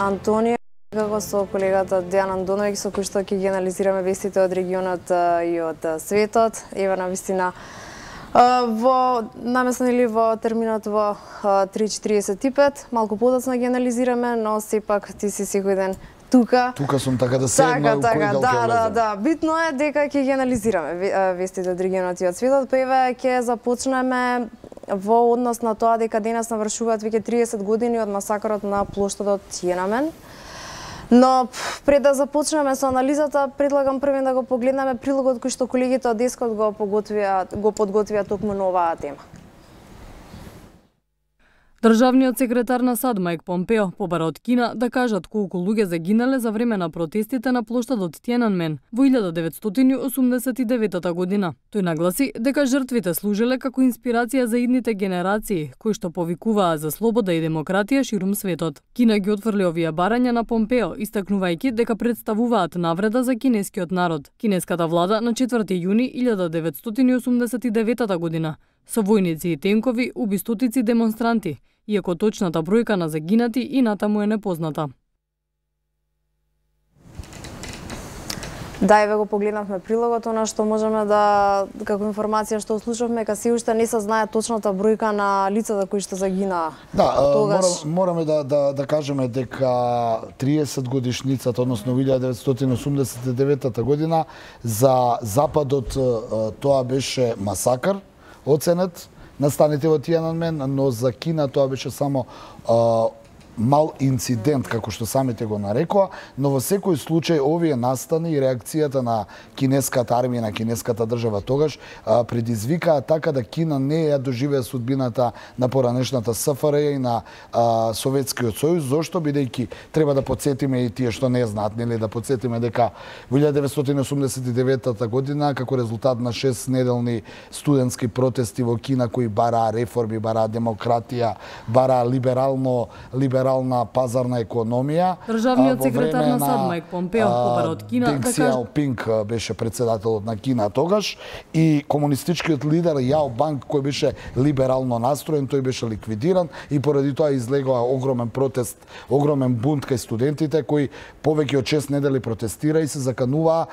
Антонија, како со колегата Дејан Андоновиќ, со кој што ќе ги анализираме вестите од регионот и од светот. Ева на вистина во намесно или во терминот во 3:45, малку подоцна ги анализираме, но сепак ти си секој ден тука. Тука сум, така да седна у кој дел ќе влезам. Да, битно е дека ќе ги анализираме вестите од регионот и од светот. Па еве ќе започнеме во однос на тоа дека денес навршуваат веќе 30 години од масакарот на плоштадот Тиенамен. Но пред да започнеме со анализата, предлагам првен да го погледнеме прилогот кој што колегите од Дескот го подготвија токму на оваа тема. Државниот секретар на САД Мајк Помпео побара од Кина да кажат колку луѓе загинале за време на протестите на плоштадот Тиенанмен во 1989 година. Тој нагласи дека жртвите служиле како инспирација за идните генерации, кои што повикуваа за слобода и демократија ширум светот. Кина ги отфрли овие барања на Помпео, истакнувајќи дека представуваат навреда за кинескиот народ. Кинеската влада на 4 јуни 1989 година со војници и тенкови уби стотици демонстранти, иако точната бројка на загинати и натаму е непозната. Да, еве го погледнавме прилогот, она што можеме да, како информација што слушавме, ка се уште не се знае точната бројка на лицата кои што загинаа. Да, мораме да кажеме дека 30 годишницата, односно 1989 година, за Западот тоа беше масакар, оценет настаните во Тиенанмен, но за Кина тоа беше само мал инцидент, како што самите го нарекоа, но во секој случај овие настани и реакцијата на кинеската армија, на кинеската држава тогаш, предизвикаа така да Кина не ја доживеа судбината на поранешната СФРЈ и на Советскиот сојуз. Зошто? Бидејќи треба да потсетиме и тие што не знаат, нели, да потсетиме дека во 1989 година, како резултат на 6-неделни студентски протести во Кина кои бараа реформи, бараа демократија, бараа либерална пазарна економија. Државниот секретар на САД Мајк Помпео побара од Кина Денг Сијаопинг беше председателот на Кина тогаш и комунистичкиот лидер Јао Банг, кој беше либерално настроен, тој беше ликвидиран и поради тоа излегува огромен протест, огромен бунт кај студентите кои повеќе од 6 недели протестира и се закануваа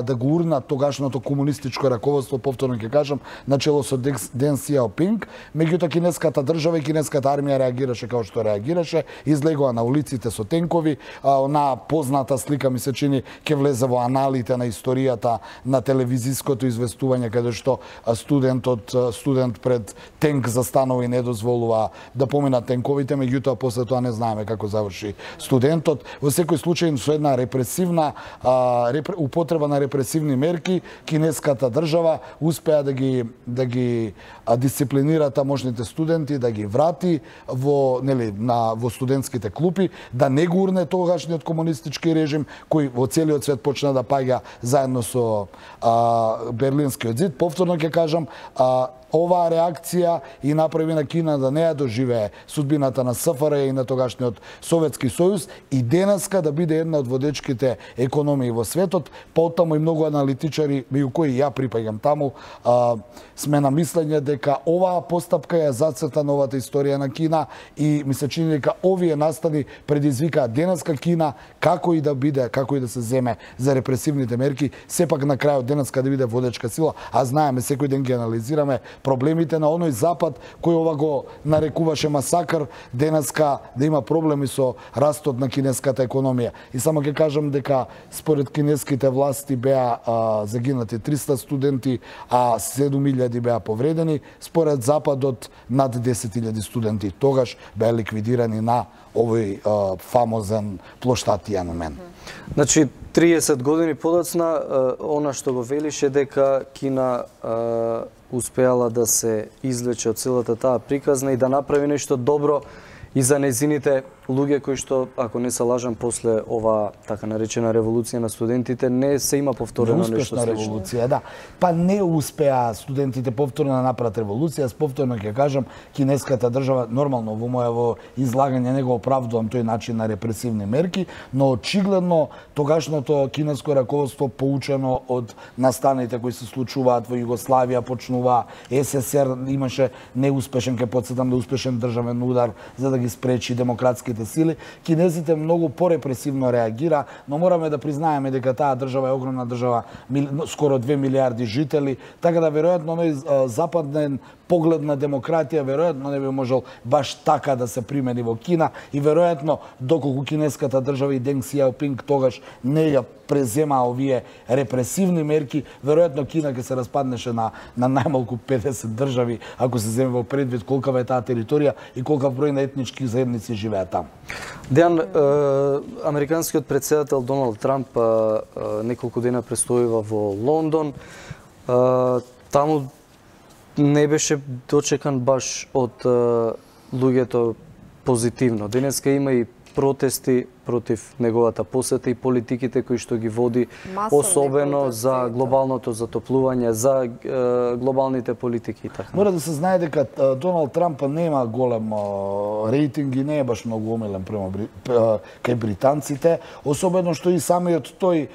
да го урнат тогашното комунистичко раководство, повторно ќе кажам, начело со Ден Сијаопинг. Меѓутоа кинеската држава и кинеската армија реагираше како што реагираше, излегува на улиците со тенкови. Онаа позната слика ми се чини ќе влезе во аналите на историјата на телевизиското известување каде што студент пред тенк застанува и не дозволува да поминат тенковите, меѓутоа после тоа не знаеме како заврши студентот. Во секој случај со една репресивна употреба на репресивни мерки, кинеската држава успеа да ги дисциплинира тамошните студенти, да ги врати во студентските клупи, да не го урне тогашниот комунистички режим кој во целиот свет почна да паѓа заедно со Берлинскиот зид. Повторно ќе кажам, оваа реакција и направи на Кина да не ја доживее судбината на СФРЈ и на тогашниот Советски сојуз и денеска да биде една од водечките економии во светот. Потаму и многу аналитичари, меѓу кои ја припаѓам таму, сме на мислење дека оваа постапка ја зацрта новата историја на Кина и ми се чини дека овие настани предизвикаат денеска Кина како и да биде, како и да се земе за репресивните мерки, сепак на крајот денеска да биде водечка сила, а знаеме секој ден ги анализираме проблемите на оној Запад кој ова го нарекуваше масакар, денеска да има проблеми со растот на кинеската економија. И само ќе кажам дека според кинеските власти беа загинати 300 студенти, а 7.000 беа повредени, според Западот над 10.000 студенти тогаш беа ликвидирани на овој фамозен плоштад Тиенанмен. Значи 30 години подоцна, она што го велише дека Кина успеала да се извлече од целата таа приказна и да направи нешто добро и за нејзините луѓе кои што, ако не се лажам, после ова така наречена револуција на студентите, не се има повторено нешто слично. Револуција, да. Па не успеа студентите повторно да направат револуција. Повторно ќе кажам, кинеската држава, нормално во моје излагање не го оправдувам тој начин на репресивни мерки, но очигледно тогашното кинеско раководство, поучено од настаните кои се случуваат во Југославија, почнува СССР, имаше неуспешен, ќе потсетам, неуспешен државен удар за да ги спречи демократските демократските сили, кинезите многу порепресивно реагира, но мораме да признаеме дека таа држава е огромна држава, скоро 2 милиарди жители, така да веројатно оној западен поглед на демократија веројатно не би можел баш така да се примени во Кина и веројатно доколку кинеската држава и Денг Сијаопинг тогаш не ја презема овие репресивни мерки, веројатно Кина ќе се распаднеше на најмалку 50 држави ако се земе во предвид колкава е таа територија и колкав број на етнички заедници живеат таму. Дејан, американскиот претседател Доналд Трамп неколку дена престојува во Лондон. Таму не беше дочекан баш од луѓето позитивно. Денеска има и протести против неговата посета и политиките кои што ги води, особено за глобалното затоплување, за глобалните политики и така. Мора да се знае дека Доналд Трамп нема голем рейтинг и не е баш многу омилен према кај британците, особено што и самиот тој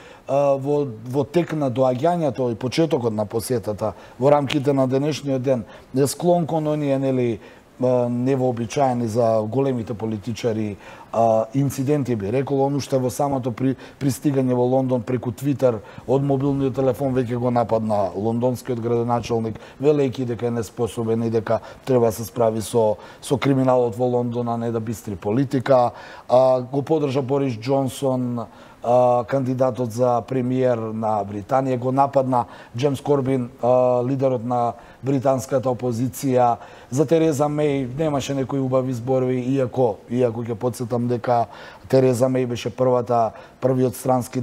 во тек на доаѓањето и почетокот на посетата во рамките на денешниот ден е склон кон оние нели невообичаени за големите политичари инциденти, би рекол, оно што во самото пристигање во Лондон преку Твитер од мобилниот телефон веќе го нападна лондонскиот градоначалник, велејќи дека е неспособен и дека треба да се справи со криминалот во Лондон, а не да бистри политика. Го поддржа Борис Џонсон, кандидатот за премиер на Британија, го нападна Джеймс Корбин, лидерот на британската опозиција. За Тереза Меј немаше некои убави зборови, иако ќе потсетам дека Тереза Меј беше првиот странски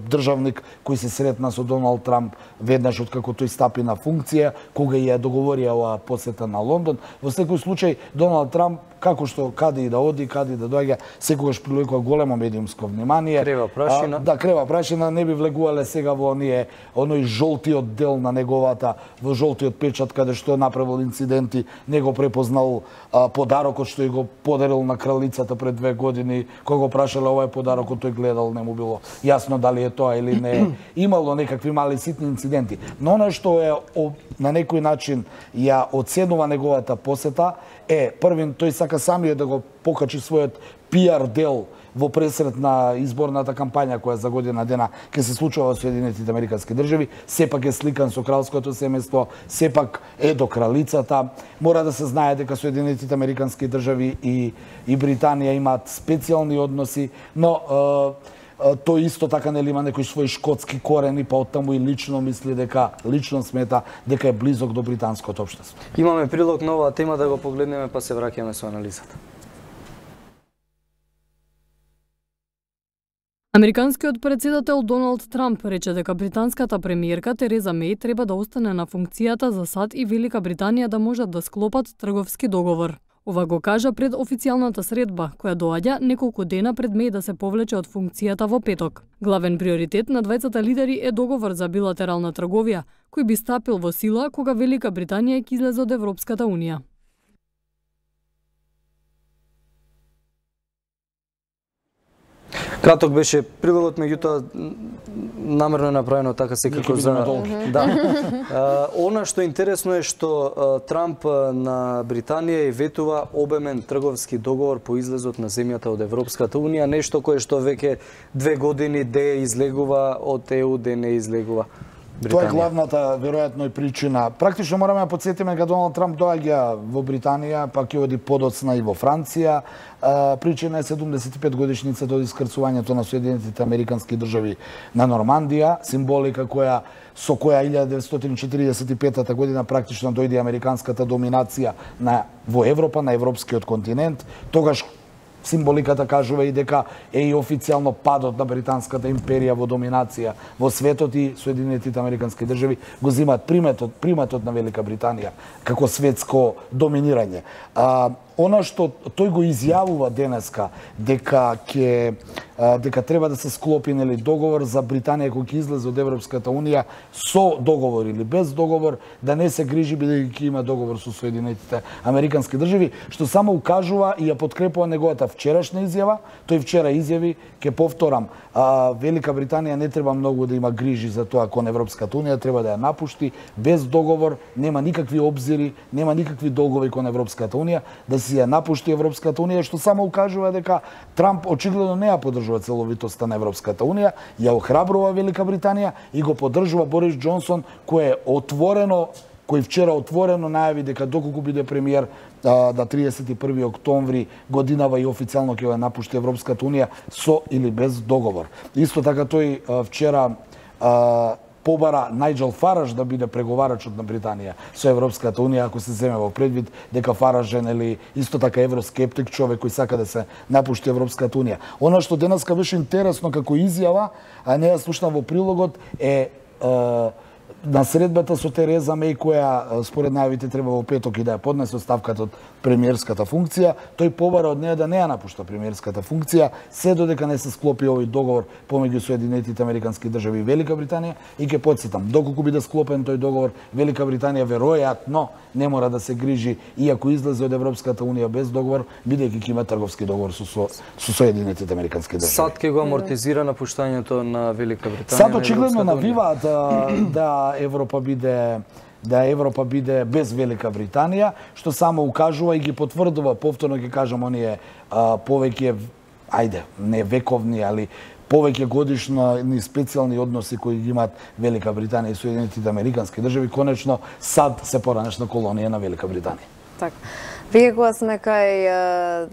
државник кој се сретна со Доналд Трамп веднаш откако тој стапи на функција, кога ја договорија оваа посета на Лондон. Во секој случај Доналд Трамп, како што каде и да оди, каде и да доаѓа, секогаш привлекува големо медиумско внимание. Крева прашина. Да, крева прашина, не би влегувале сега во оној жолтиот дел на неговата, во жолтиот печат каде што направил инциденти, не го препознал подарокот што и го подарил на кралицата пред 2 години, кога го прашале ова е подарокот, тој гледал, не му било јасно дали е тоа или не. Имало некакви мали ситни инциденти, но оно што е на некој начин ја оценува неговата посета е првин тој сака самиот да го покачи својот пиар дел во пресрет на изборната кампања која за година дена ќе се случува во Соединетите Американски држави, сепак е сликан со кралското семејство, сепак е до кралицата. Мора да се знае дека Соединетите Американски држави и Британија имаат специјални односи, но тој исто така нели има некои своји шкотски корени, па оттаму и лично мисли дека, лично смета дека е близок до британското општество. Имаме прилог на оваа тема, да го погледнеме, па се враќаме со анализата. Американскиот претседател Доналд Трамп рече дека британската премиерка Тереза Меј треба да остане на функцијата за САД и Велика Британија да можат да склопат трговски договор. Ова го кажа пред официјалната средба, која доаѓа неколку дена пред Меј да се повлече од функцијата во петок. Главен приоритет на двајцата лидери е договор за билатерална трговија, кој би стапил во сила кога Велика Британија ќе излезе од Европската унија. Краток беше прилогот, меѓутоа намерно е направено така секако за... Да. Она што интересно е што Трамп на Британија и ветува обемен трговски договор по излезот на земјата од Европската унија, нешто кое што веќе 2 години де излегува од ЕУ, де не излегува Британија. Тоа е главната, веројатно, и причина. Практично мораме да потсетиме кога Доналд Трамп доаѓа во Британија, па ќе оди подоцна и во Франција. Причина е 75 годишницата од искрцувањето на Соединетите Американски држави на Нормандија, символика со која 1945 година практично дојде американската доминација во Европа, на европскиот континент. Тогаш символиката кажува и дека е и официјално падот на британската империја во доминација во светот и Соединетите Американски држави го земаат приматот на Велика Британија како светско доминирање. Она што тој го изјавува денеска дека треба да се склопи договор за Британија кој ќе излезе од Европската унија со договор или без договор, да не се грижи бидејќи има договор со Соединетите Американски држави, што само укажува и ја подкрепува неговата вчерашна изјава. Тој вчера изјави, ќе повторам, Велика Британија не треба многу да има грижи за тоа кон Европската унија, треба да ја напушти без договор, нема никакви обзири, нема никакви долгови кон Европската унија, да се си ја напушти Европската унија, што само укажува дека Трамп очигледно не ја поддржува целовитоста на Европската унија, ја охрабрува Велика Британија и го поддржува Борис Џонсон, кој вчера отворено најави дека доколку биде премиер да 31 октомври годинава и официјално ќе ја напушти Европската унија со или без договор. Исто така тој вчера побара Најџел Фараж да биде преговарачот на Британија со Европската унија, ако се земе во предвид дека Фараж е исто така евроскептик, човек кој сака да се напушти Европската унија. Она што денеска беше интересно како изјава, а не ја слушнав во прилогот, е на средбата со Тереза Меј, која според најавите треба во петок и да ја поднесе оставката од премиерската функција, тој побара од неја да не ја напушта премиерската функција, се додека не се склопи овој договор помеѓу Соединетите Американски држави и Велика Британија. И ќе потсетам, доколку биде склопен тој договор, Велика Британија веројатно не мора да се грижи, иако излезе од Европската унија без договор, бидејќи ќе има трговски договор со Соединетите Американски држави. САД ќе го амортизира напуштањето на Велика Британија. САД очигледно навиваат да Европа биде без Велика Британија, што само укажува и ги потврдува, повторно ќе кажам, оние повеќе, не вековни, али повеќе годишни специјални односи кои ги имаат Велика Британија и Соединетите Американски држави, конечно САД се поранешна колонија на Велика Британија. Така. Вие кога сме кај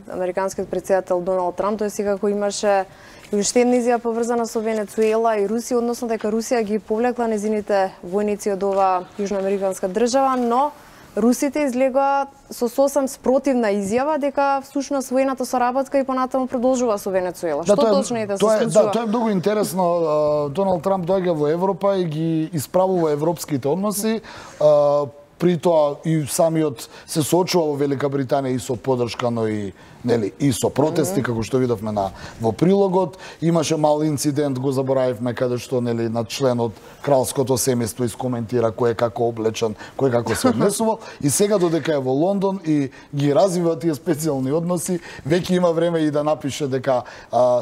американскиот председател Доналд Трамп, тој секако имаше и уште една изјава поврзана со Венецуела и Русија, односно дека Русија ги повлекла незините војници од оваа јужноамериканска држава, но русите излегоа со сосем спротивна изјава дека всушност војната соработка и понатаму продолжува со Венецуела. Што точно е да се случува? Тоа е многу интересно. Доналд Трамп доаѓа во Европа и ги исправува европските односи. При тоа и самиот се соочува во Велика Британија и со поддршка, но и со протести, како што видовме во прилогот. Имаше мал инцидент, го заборавивме, каде што на член од кралското семејство искоментира кој е како облечен, кој како се однесувал. И сега додека е во Лондон и ги развива тие специјални односи, веќе има време и да напише дека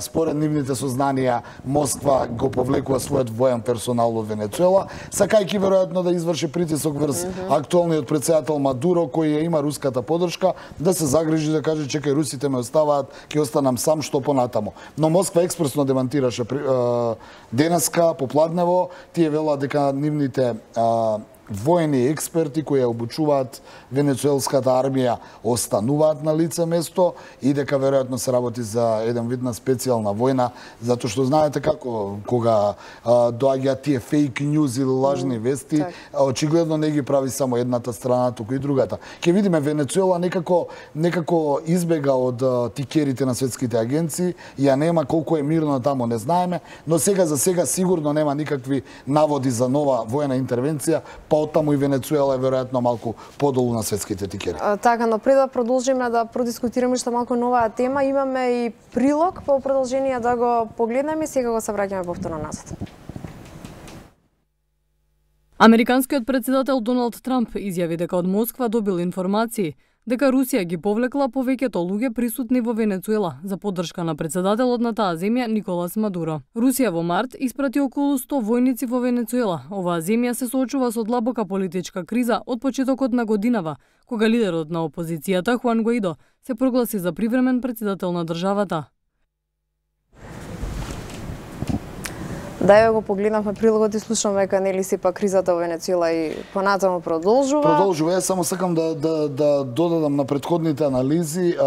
според нивните сознанија Москва го повлекува својот воен персонал од Венецуела, сакајќи веројатно да изврши притисок врз актуелниот председател Мадуро, кој ја има руската поддршка, да се загрижи, да каже чекај, русите ме оставаат, ќе останам сам, што понатаму. Но Москва експресно демантираше денеска попладнево, тие велат дека нивните воени експерти кои ја обучуваат венецуелската армија остануваат на лице место и дека веројатно се работи за еден вид на специјална војна, затоа што знаете како кога доаѓаат тие фейк ньюз или лажни вести, очигледно не ги прави само едната страна, туку и другата. Ќе видиме, Венецуела некако избега од тикерите на светските агенции, ја нема, колку е мирно таму не знаеме, но сега за сега сигурно нема никакви наводи за нова воена интервенција, па оттаму и Венецуела е веројатно малку подолу на светските тикери. Така, но пред да продолжиме да продискутираме што малку новаа тема, имаме и прилог по продолжение да го погледнеме и сега го се враќаме повторно назад. Американскиот председател Доналд Трамп изјави дека од Москва добил информации дека Русија ги повлекла повеќето луѓе присутни во Венецуела за поддршка на председателот на таа земја Николас Мадуро. Русија во март испрати околу 100 војници во Венецуела. Оваа земја се соочува со длабока политичка криза од почетокот на годинава, кога лидерот на опозицијата Хуан Гуаидо се прогласи за привремен председател на државата. Да, ја го погледнавме прилогот и слушаме дека сепак кризата во Венецуела и понатаму продолжува. Продолжува, само сакам да додадам на претходните анализи.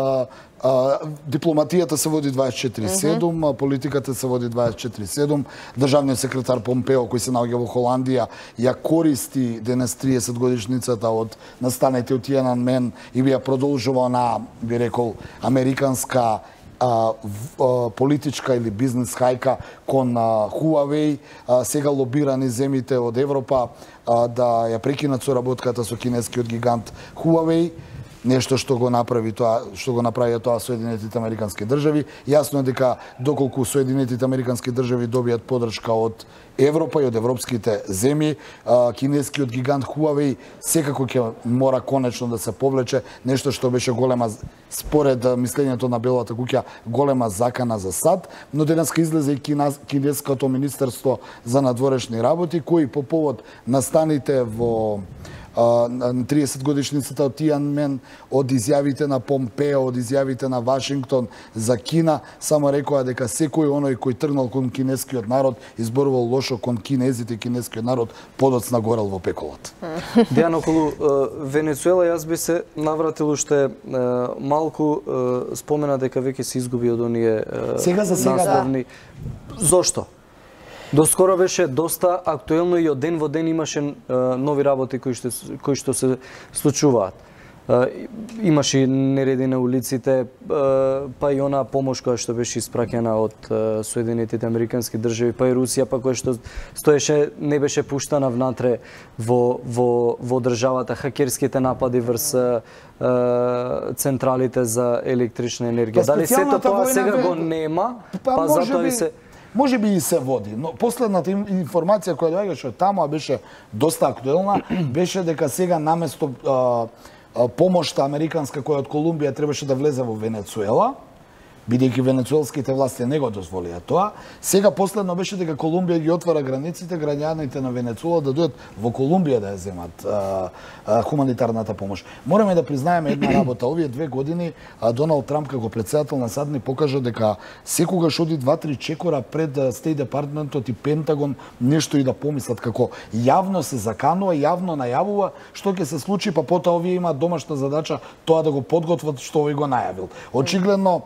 Дипломатијата се води 24/7, политиката се води 24/7. Државниот секретар Помпео, кој се наоѓа во Холандија, ја користи денес 30 годишницата од настаните од Тиананмен и ја продолжува на, би рекол, американска политичка или бизнес хајка кон Huawei, сега лобирани земите од Европа да ја прекинат соработката со кинескиот гигант Huawei, нешто што го направи тоа Соединетите Американски држави. Јасно е дека доколку Соединетите Американски држави добијат поддршка од Европа и од европските земји, кинескиот гигант Huawei секако ќе мора конечно да се повлече, нешто што беше голема, според мислењето на Белата куќа, голема закана за САД, но денеска излезе и кинеското министерство за надворешни работи, кои по повод настаните во 30 годишницата од Тијанмен, од изјавите на Помпео, од изјавите на Вашингтон за Кина, само рекоа дека секој оној кој тргнал кон кинескиот народ, изборувал лошо кон кинезите, кинескиот народ подоцна горел во пеколот. Дејан, околу Венецуела јас би се навратил уште малку, спомена дека веќе се изгуби од оние насловни. Зошто? Доскоро беше доста актуелно и од ден во ден имаше нови работи кои што се случуваат. Имаше нереди на улиците, па и она помош која што беше испраќена од Соединетите Американски држави, па и Русија, па која што стоеше, не беше пуштана внатре во државата, хакерските напади врз централите за електрична енергија. Дали сето тоа сега го нема, па затоа и се... Може би и се води, но последната информација која доаѓаше од таму, а беше доста актуелна, беше дека сега наместо помошта американска која од Колумбија требаше да влезе во Венецуела, бидејќи венецуелските власти не го дозволија тоа, сега последно беше дека Колумбија ги отвара границите, граѓаните на Венецуела да дојдат во Колумбија да ја земат хуманитарната помош. Мораме да признаеме една работа. Овие 2 години Доналд Трамп како председател на САД ни покажа дека секогаш оди 2-3 чекора пред Стейт Департментот и Пентагон нешто и да помислат, како јавно се заканува, јавно најавува што ќе се случи, па потоа овие имаат домашна задача тоа да го подготват што овој го најавил. Очигледно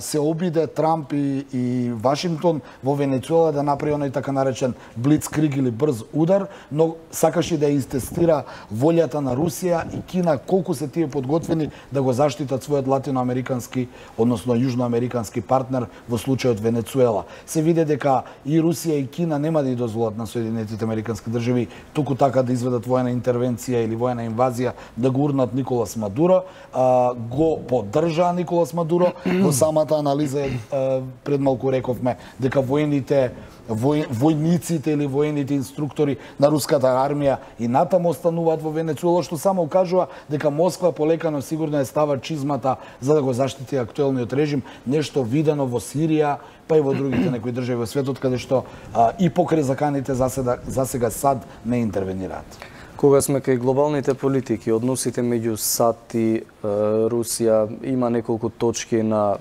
се обиде Трамп и Вашингтон во Венецуела да направи оној така наречен блицкриг или брз удар, но сакаше да истестира волјата на Русија и Кина колку се тие подготвени да го заштитат својот латиноамерикански, односно јужноамерикански партнер во случајот Венецуела. Се виде дека и Русија и Кина нема да ја дозволат на Соединетите Американски држави туку така да изведат воена интервенција или воена инвазија да го урнат Николас Мадуро, го поддржа Николас Мадуро. Во самата анализа пред малку рековме дека војниците или воените инструктори на руската армија и натаму остануваат во Венецуела, што само укажува дека Москва полекано сигурно е става чизмата за да го заштити актуелниот режим, нешто видено во Сирија, па и во другите некои држави во светот, каде што и покрај заканите засега САД не интервенираат. Кога сме кај глобалните политики, односите меѓу САД и Русија, има неколку точки на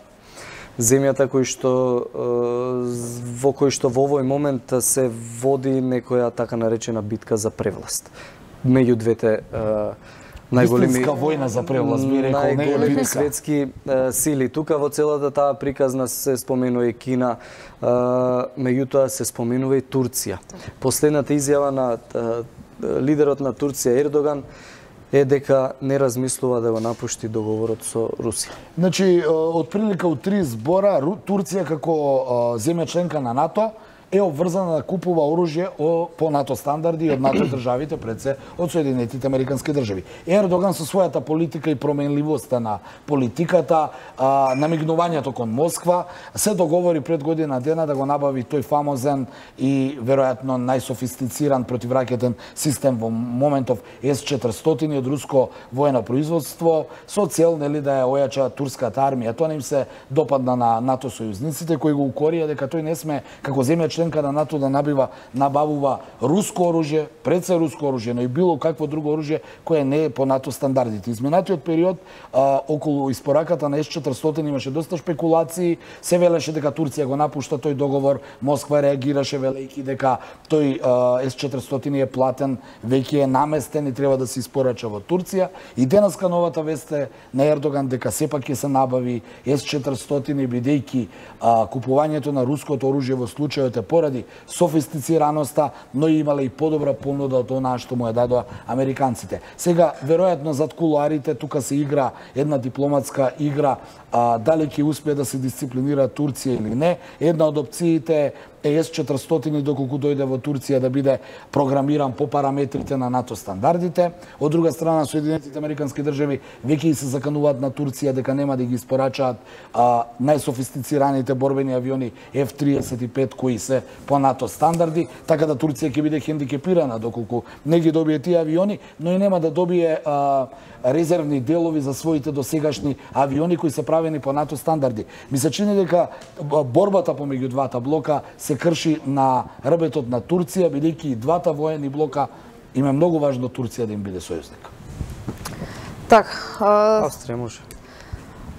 земјата во кој што во овој момент се води некоја така наречена битка за превласт. Меѓу двете најголеми војна за превласт, би рекол, најголеми светски сили. Тука во целата таа приказна се споменува и Кина, меѓутоа се споменува и Турција. Последната изјава на лидерот на Турција Ердоган е дека не размислува да го напушти договорот со Русија. Значи, од прилика од 3 збора, Турција како земја членка на НАТО е обврзана да купува оружје по НАТО стандарди од НАТО државите, пред се од Соединетите Американски држави. Ердоган со својата политика и променливоста на политиката, намигнувањето кон Москва, се договори пред година дена да го набави тој фамозен и веројатно најсофистициран противракетен систем во моментов С-400 од руско воено производство, со цел да ја ојача турската армија. Тоа не им се допадна на НАТО сојузниците кои го укорија дека тој не сме како земја членка на НАТО да набавува руско оружје, пред се руско оружје, но и било какво друго оружје кое не е по НАТО стандардите. Изминатиот период околу испораката на С-400 имаше доста шпекулации, се велеше дека Турција го напушта тој договор, Москва реагираше велејќи дека тој С-400 е платен, веќе е наместен и треба да се испорача во Турција. И денеска новата вест е на Ердоган дека сепак ќе се набави С-400 бидејќи купувањето на руското оружје во случајот е поради софистицираноста, но имале и подобра понуда од онаа што му ја дадоа американците. Сега, веројатно, зад кулуарите тука се игра една дипломатска игра, дали ќе успее да се дисциплинира Турција или не. Една од опциите е С-400 доколку дојде во Турција да биде програмиран по параметрите на НАТО стандардите. Од друга страна, Соединетите Американски држави веќе се закануваат на Турција дека нема да ги испорачаат најсофистицираните борбени авиони F-35 кои се по НАТО стандарди, така да Турција ќе биде хендикепирана доколку не ги добие тие авиони, но и нема да добие резервни делови за своите досегашни авиони кои се правени по НАТО стандарди. Ми се чини дека борбата помеѓу двата блока се крши на рбетот на Турција, бидејќи и двата воени блока им е многу важно Турција да им биде сојузник. Така, Австрија може.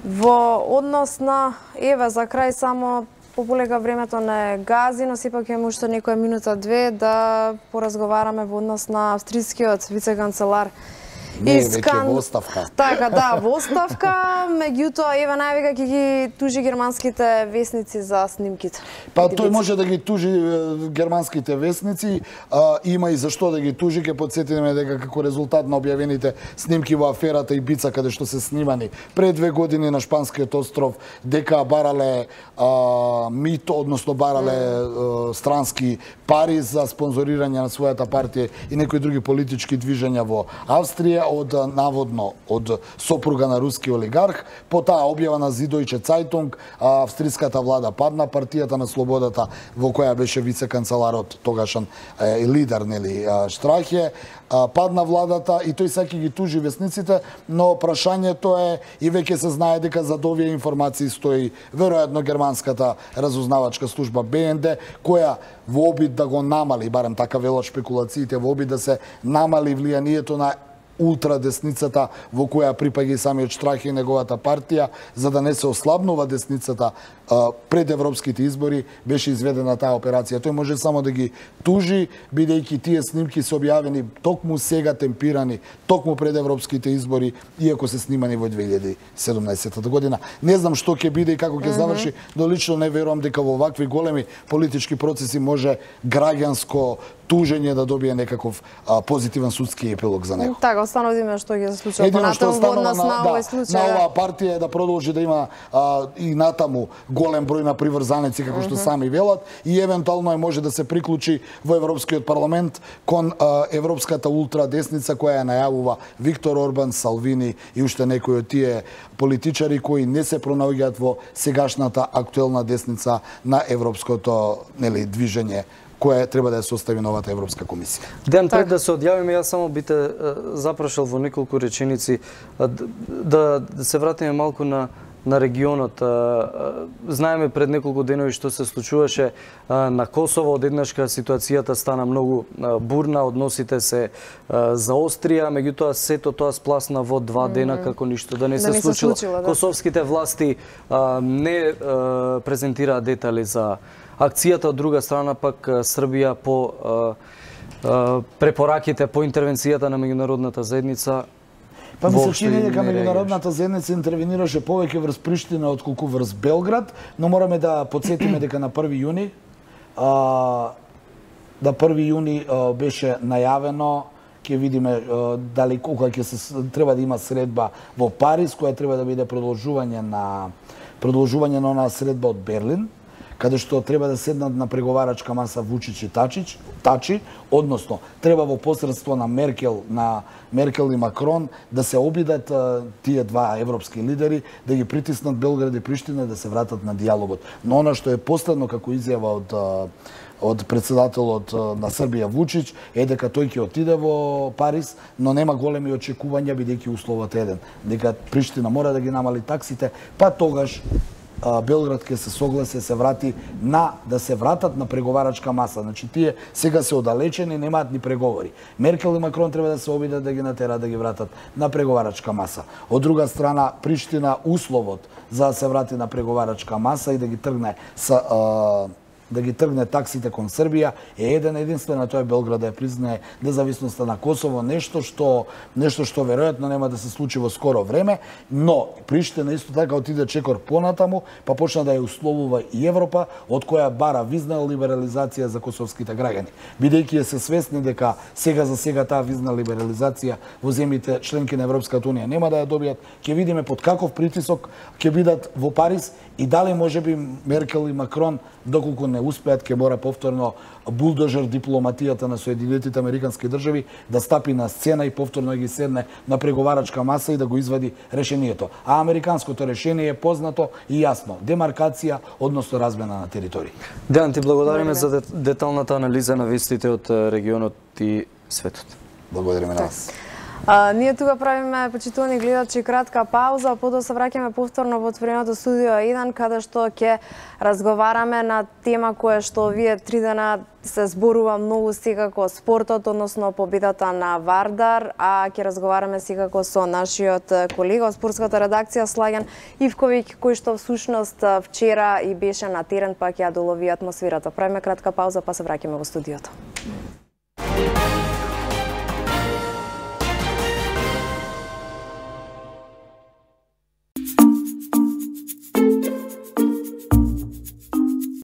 во однос на еве за крај само пополека времето не гази, но сепак имаме уште некоја минута-две да поразговараме во однос на австрискиот вице-канцелар Не, веќе во оставка. Така, да, во оставка, меѓутоа еве највеќе ќе ги тужи германските весници за снимките. Па тој може да ги тужи германските весници, има и зашто да ги тужи, ќе потсетиме дека како резултат на објавените снимки во аферата Ибица каде што се снимани пред 2 години на шпанскиот остров, дека барале мито, односно барале странски пари за спонзорирање на својата партија и некои други политички движења во Австрија од наводно од сопруга на руски олигарх. По таа објава на Süddeutsche Zeitung австриската влада падна, партијата на слободата во која беше вице-канцеларот тогашен лидер нели Штрахе, падна владата и тој сака ги тужи весниците, но прашањето е и веќе се знае дека зад овие информации стои веројатно германската разузнавачка служба БНД, која во обид да го намали, барем така велат шпекулациите, во обид да се намали влијанието на ултрадесницата во која припаѓа и самиот Штрахе и неговата партија, за да не се ослабнува десницата пред европските избори, беше изведена таа операција. Тој може само да ги тужи, бидејќи тие снимки се објавени токму сега темпирани, токму пред европските избори, иако се снимани во 2017 година. Не знам што ќе биде и како ќе заврши, но лично не верувам дека во вакви големи политички процеси може граѓанско тужење да добие некаков позитивен судски епилог за него. Така, остановиме што ќе се случи понатаму во однос на овој случај. На оваа партија е да продолжи да има и натаму голем број на приврзаници, како што сами велат, и евентуално може да се приклучи во Европскиот парламент кон европската ултрадесница која ја најавува Виктор Орбан, Салвини и уште некои од тие политичари кои не се пронаоѓаат во сегашната актуелна десница на европското движење која треба да ја состави новата Европска комисија. Ден пред да се одјавиме, јас само би те запрашал во неколку реченици да се вратиме малку на регионот. Знаеме пред неколку денови што се случуваше на Косово, одеднашка ситуацијата стана многу бурна, односите се заострија, меѓутоа сето тоа спласна во 2 дена како ништо да не се случило. Косовските власти не презентираа детали за акцијата, од друга страна пак Србија по препораките, по интервенцијата на меѓународната заедница. Па ми се чини дека меѓународната заедница интервенираше повеќе врз Приштина отколку врз Белград, но мораме да потсетиме дека на 1 јуни беше најавено, ќе видиме дали кога ќе се треба да има средба во Париз, која треба да биде продолжување на онаа средба од Берлин, каде што треба да седнат на преговарачка маса Вучич и Тачи, односно треба во посредство на Меркел и Макрон да се обидат тие два европски лидери да ги притиснат Белград и Приштина да се вратат на диалогот. Но она што е последно како изјава од председателот на Србија Вучич е дека тој ќе отиде во Париз, но нема големи очекувања бидејќи условот е еден, дека Приштина мора да ги намали таксите, па тогаш Белград ќе се согласи да се вратат на преговарачка маса. Значи тие сега се оддалечени, немаат ни преговори. Меркел и Макрон треба да се обидат да ги натераат да ги вратат на преговарачка маса. Од друга страна, Приштина условот за да се врати на преговарачка маса и да ги тргне таксите кон Србија е еден единствен, а тоа е Белград да ја признае независноста на Косово, нешто што веројатно нема да се случи во скоро време, но Приштина исто така отиде чекор понатаму, па почна да ја условува и Европа, од која бара визна либерализација за косовските граѓани. Бидејќи се свесни дека сега таа визна либерализација во земјите членки на Европската унија нема да ја добијат, ќе видиме под каков притисок ќе бидат во Париз и дали можеби Меркел и Макрон, доколку не успеат, ќе мора повторно булдожер дипломатијата на Соединетите Американски држави да стапи на сцена и повторно ги седне на преговарачка маса и да го извади решението. А американското решение е познато и јасно. Демаркација, односно размена на територии. Дејан, ти благодариме за деталната анализа на вестите од регионот и светот. Благодариме на вас. Ние тука правиме, почитувани гледачи, кратка пауза, потоа се враќаме повторно во отвореното студио 1, каде што ќе разговараме на тема која што овие 3 дена се зборува многу, секако спортот, односно победата на Вардар, а ќе разговараме секако со нашиот колега од спортската редакција Слаген Ивковиќ, кој што всушност вчера и беше на терен, па ќе ја долови атмосферата. Правиме кратка пауза, па се враќаме во студиото.